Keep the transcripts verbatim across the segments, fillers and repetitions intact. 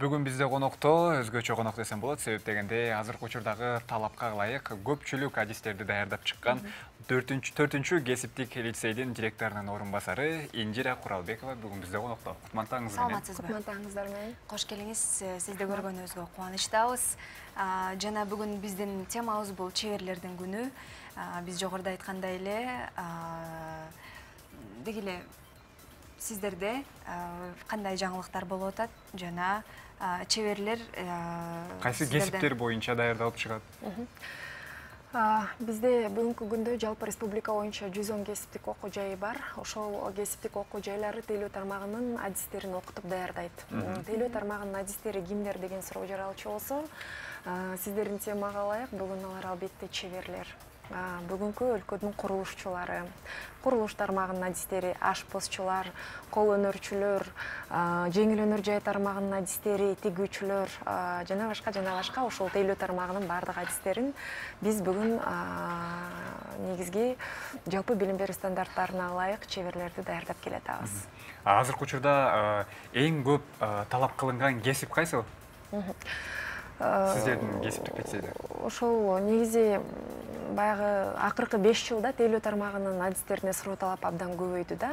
Бүгүн бизде конокто өзгөчө конок десем болот, себеп дегенде азыркы учурдагы талапка ылайык көпчүлүк адистерди даярдап чыккан төртүнчү кесиптик лицейдин директорунун орун басары Инжира Куралбекова бүгүн бизде конокто. Кутмандыгыңыз менен. Саламатсызбы? Кутмандыгыңыздар менен. Кош келиңиз. Сизди көргөнүбүзгө кубанычтабыз. Жана бүгүн биздин темабыз бул чеберлердин күнү. Биз жогоруда айткандай эле деги эле сиздерде кандай жаңылыктар болуп атат жана чеберлер кайсы кесиптер боюнча даярдалып чыгат? Бизде бүгүнкү күндө жалпы республика боюнча жүз он кесиптик окуу жайы бар. Ошол кесиптик окуу жайлары тейлөө тармагынын адистерин окутуп даярдайт. Тейлөө тармагынын адистери кимдер деген суроо жаралчу болсо, сиздердин темага ылайык бүгүн алар албетте чеберлер. Бүгүнкү өлкөдүн курулушчулары, курулуш тармагынын адистери, ашпозчулар, кол өнөрчүлөр, жеңил өнөр жай тармагынын адистери, тигүүчүлөр жана башка жана башка ошол тейлөө тармагынын баардык адистерин биз бүгүн негизги жалпы билим берүү стандарттарына ылайык чеберлерди даярдап келатабыз. Азыркы учурда эң көп талап кылынган кесип кайсы? Сиздердин кесиптик лицейде? Ошол негизи баягы акыркы беш жылда тейлөө тармагынын адистерине суроо талап абдан көбөйдү да.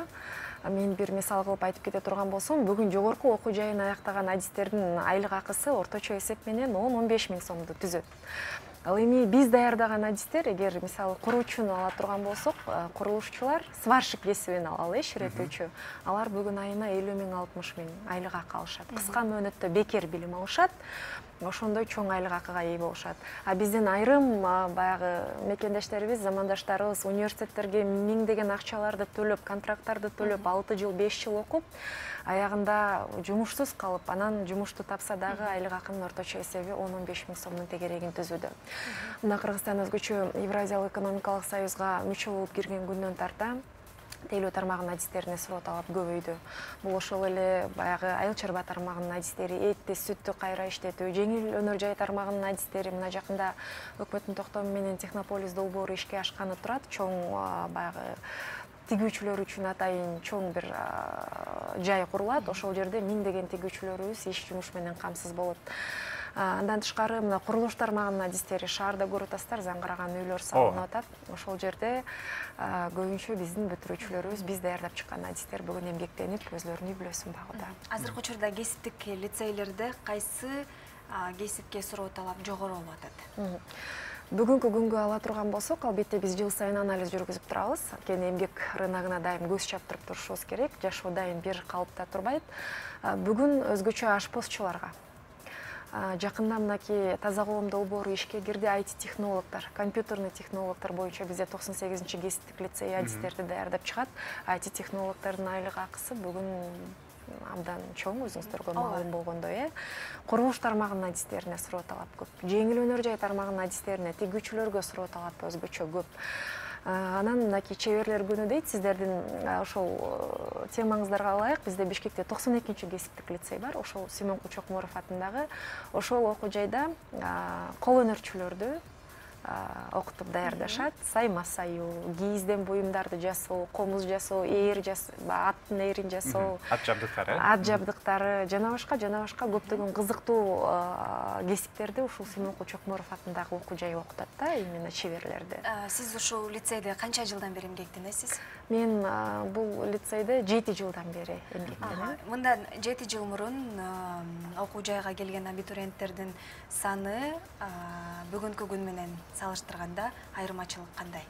Мен бир мисал кылып айтып кете турган болсом, бүгүн жогорку окуу жайын аяктаган адистердин айлык акысы орточо эсеп менен он он беш миң сомду түзөт. Ал эми биз даярдаган адистер, эгер мисалы куруучуну ала турган болсок, курулушчулар сварщик кесибин алалы, ширетүүчү. Алар бүгүн айына элүү миң алтымыш миң айлык акы алышат. Кыска мөөнөттө бекер билим алышат. Ошондой чоң айлык акыга ээ болушат. А биздин айрым баягы мекендештерибиз, замандаштарыбыз университеттерге миңдеген акчаларды төлөп, контракттарды төлөп, алты жыл, беш жыл окуп, аягында жумушсуз калып, анан жумушту тапса дагы айлык акынын орточо эсеби он он беш миң сомдун тегерегин түзүүдө. Мына Кыргызстан өзгөчө Евразиялык экономикалык союзга мүчө болуп кирген күндөн тарта тейлөө тармагынын адистерине суроо талап көбөйдү. Бул ошол эле баягы айыл чарба тармагынын адистери, этти, сүттү кайра иштетүү, жеңил өнөр жай тармагынын адистери мына жакында өкмөттүн токтому менен Технополис долбоору ишке ашканы турат. Чоң баягы тигүүчүлөр үчүн атайын чоң бир жай курулат. Ошол жерде миңдеген тигүүчүлөрүбүз иш жумуш менен камсыз болот. Андан тышкары мына курулуш тармагынын адистери шаарда көрүп атасыздар, заңгыраган үйлөр салынып атат. Ошол жерде көбүнчө биздин бүтүрүүчүлөрүбүз, биз даярдап чыккан адистер бүгүн эмгектенип, өзлөрүнүн үй бүлөсүн багууда. Азыркы учурда кесиптик лицейлерде кайсы кесипке суроо талап жогору болуп атат? Бүгүнкү күнгө ала турган болсок, албетте биз жыл сайын анализ жүргүзүп турабыз. Анткени эмгек рыногуна дайым көз чаптырып турушубуз керек. Жашоо дайым бир калыпта турбайт. Бүгүн өзгөчө ашпозчуларга, жакында мынакей таза коом долбоору ишке кирди, ай ти технологдор, компьютерный технологдор боюнча бизде токсон сегизинчи кесиптик лицей адистерди даярдап чыгат. ай ти технологдордун айлык акысы бүгүн абдан чоң, өзүңүздөргө маалым болгондой, э. Курулуш тармагынын адистерине суроо талап көп. Жеңил өнөр жай тармагынын адистерине, тигүүчүлөргө суроо талап өзгөчө көп. Анан мынакей чеберлер күнү дейт, сиздердин ошол темаңыздарга ылайык бизде Бишкекте токсон экинчи кесиптик лицей бар. Ошол Симон Кучокморов атындагы ошол окуу жайда кол өнөрчүлөрдү окутуп даярдашат. Сайма саюу, кийизден буюмдарды жасоо, комуз жасоо, ээр жасоо, аттын ээрин жасоо, ат жабдыктары, ат жабдыктары жана башка жана башка көптөгөн кызыктуу кесиптерди ушул Симон Кучокморов атындагы окуу жай окутат да, именно чеберлерди. Сиз ушул лицейде канча жылдан бери эмгектенесиз? Мен бул лицейде жети жылдан бери эмгектенем. Мындан жети жыл мурун окуу жайга келген абитуриенттердин саны бүгүнкү күн менен салыштырганда айырмачылык кандай?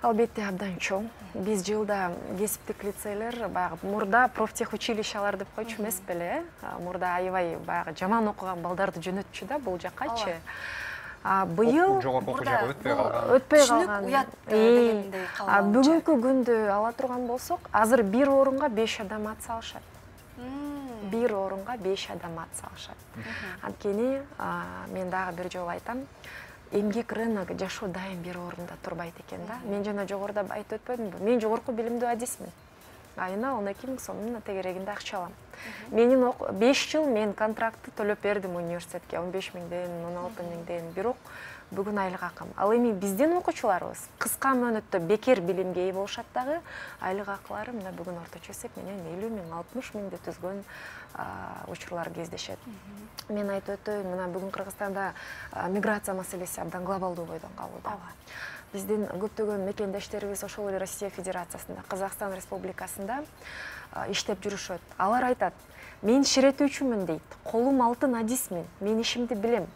Албетте абдан чоң. Биз жылда кесиптик лицейлер баягы мурда профтехучилищалар деп койчу эмес беле? Мурда аябай баягы жаман окуган балдарды жөнөтчү да бул жаккачы. Быйыл жогорку окуу жайга өтпөй калган. Өтпөй калган. Уят дегендей калган. Бүгүнкү күндү ала турган болсок, азыр бир орунга беш адам ат салышат. Бир орунга беш адам ат салышат. Анткени мен дагы бир жолу айтам, эмгек рыногу жашоо дайым бир орунда турбайт экен да. Мен жана жогоруда айтып өтпөдүмбү? Мен жогорку билимдүү адисмин. Айына он эки миң сомдун тегерегинде акча алам. Менин беш жыл мен контрактты төлөп бердим университетке, он беш миңден, он алты миңден. Бирок бүгүн айлык акым. Ал эми биздин окуучуларыбыз кыска мөөнөттө бекер билимге ээ болушат дагы, айлык акылары мына бүгүн орточо эсеп менен элүү миң, алтымыш миңди түзгөн учурлар кездешет. Мен айтып өтөйүн, мына бүгүн Кыргызстанда миграция маселеси абдан глобалдуу бойдон калууда. Биздин көптөгөн мекендештерибиз ошол эле Россия Федерациясында, Казакстан Республикасында иштеп жүрүшөт. Алар айтат: "Мен ширетүүчүмүн" дейт. "Колум алтын адисмин, мен ишимди билем.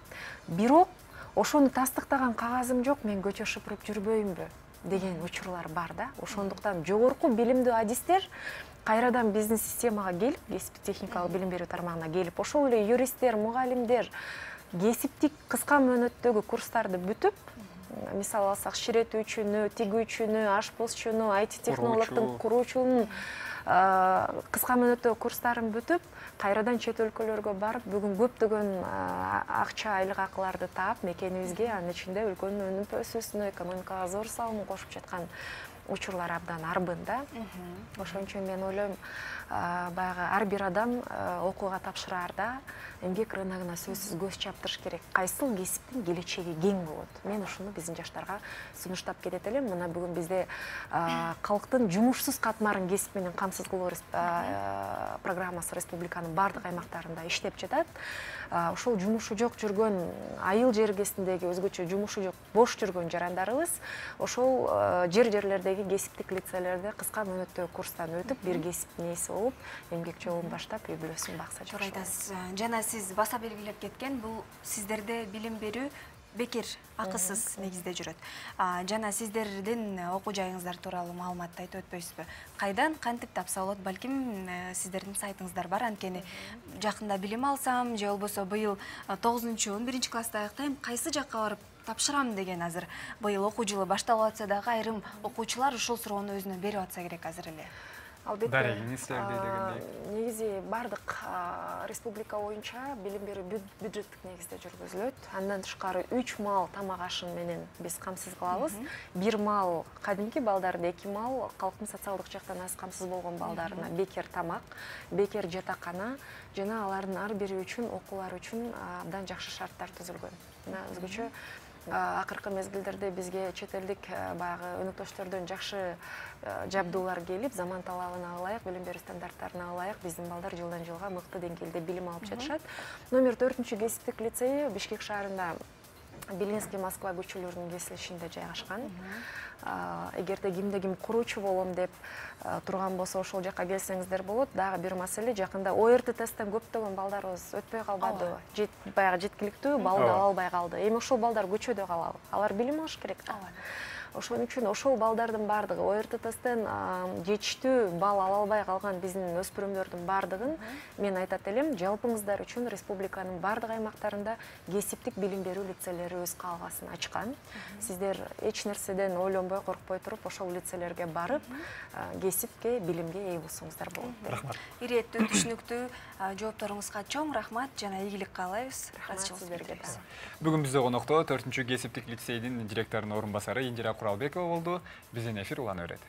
Бирок ошону тастыктаган кагазым жок, мен көчө шыпырып жүрбөйүмбү?" деген учурлар бар да. Ошондуктан жогорку билимдүү адистер кайрадан биздин системага келип, кесиптик техникалык билим берүү тармагына келип, ошол эле юристтер, мугалимдер кесиптик кыска мөөнөттөгү курстарды бүтүп, мисалы алсак, ширетүүчүнү, тигүүчүнү, ашпозчуну, ай ти технологдун куруучунун кыска мөөнөттөгү курстарын бүтүп, кайрадан чет өлкөлөргө барып, бүгүн көптөгөн акча, айлык акыларды таап, мекенибизге, анын ичинде өлкөнүн өнүп өсүүсүнө, экономикага зор салымын кошуп жаткан учурлар абдан арбын да. Ошон үчүн мен ойлойм, баягы ар бир адам окууга тапшыраарда эмгек рыногуна сөзсүз көз чаптырыш керек. Кайсыл кесиптин келечеги кең болот? Мен ушуну биздин жаштарга сунуштап кетет элем. Мына бүгүн бизде калктын жумушсуз катмарын кесип менен камсыз кылуу программасы республиканын бардык аймактарында иштеп жатат. Ошол жумушу жок жүргөн, айыл жергесиндеги өзгөчө жумушу жок, бош жүргөн жарандарыбыз ошол жер-жерлердеги кесиптик лицейлерде кыска мөөнөттөгү курстан өтүп, бир кесиптин ээси болуп, эмгек жолун баштап, үй бүлөсүн бакса жакшы болот. Жана сиз баса белгилеп кеткен, бул сиздерде билим берүү бекер, акысыз негизде жүрөт. Жана сиздердин окуу жайыңыздар тууралуу маалыматты айтып өтпөйсүзбү? Кайдан, кантип тапса болот? Балким сиздердин сайтыңыздар бар, анткени жакында билим алсам, же болбосо быйыл тогузунчу, он биринчи класста аяктайм, кайсы жакка барып тапшырам деген азыр быйыл окуу жылы башталып атса дагы айрым окуучулар ушул суроону өзүнө берип атса керек азыр эле. Албетте, негизи бардык республика боюнча билим берүү бюджеттик негизде жүргүзүлөт. Андан тышкары үч маал тамак ашын менен биз камсыз кылабыз. Бир маал кадимки балдарды, эки маал калктын социалдык жактан аз камсыз болгон балдарына бекер тамак, бекер жатакана жана алардын ар бири үчүн, окуулары үчүн абдан жакшы шарттар түзүлгөн. Мына өзгөчө акыркы мезгилдерде бизге чет элдик баягы өнөктөштөрдөн жакшы жабдуулар келип, заман талабына ылайык, билим берүү стандарттарына ылайык биздин балдар жылдан жылга мыкты деңгээлде билим алып жатышат. Номер төртүнчү кесиптик лицейи Бишкек шаарында Белинский Москва көчөлөрүнүн кесилишинде жайгашкан. Эгерде кимде ким куруучу болом деп турган болсо, ошол жакка келсеңиздер болот. Дагы бир маселе, жакында о эр тэ тесттен көптөгөн балдарыбыз өтпөй калбады. Баягы жеткиликтүү балды ала албай калды. Эми ошол балдар көчөдө калабы? Алар билим алыш керек да. Ошон үчүн ошол балдардын бардыгы о эр тэ тесттен жетиштүү бал ала албай калган биздин өспүрүмдөрдүн бардыгын мен айтат элем, жалпыңыздар үчүн республиканын бардык аймактарында кесиптик билим берүү лицейлери өз каалгасын ачкан. Сиздер эч нерседен ойлонбой, коркпой туруп ошол лицейлерге барып, кесипке, билимге ээ болсоңуздар болот. Рахмат. Иреттүү, түшүнүктүү жоопторуңузга чоң рахмат жана ийгилик каалайбыз. Бүгүн бизде конокто төртүнчү кесиптик лицейдин директорунун орун басары Индира Куралбекова болду. Биздин эфир улана берет.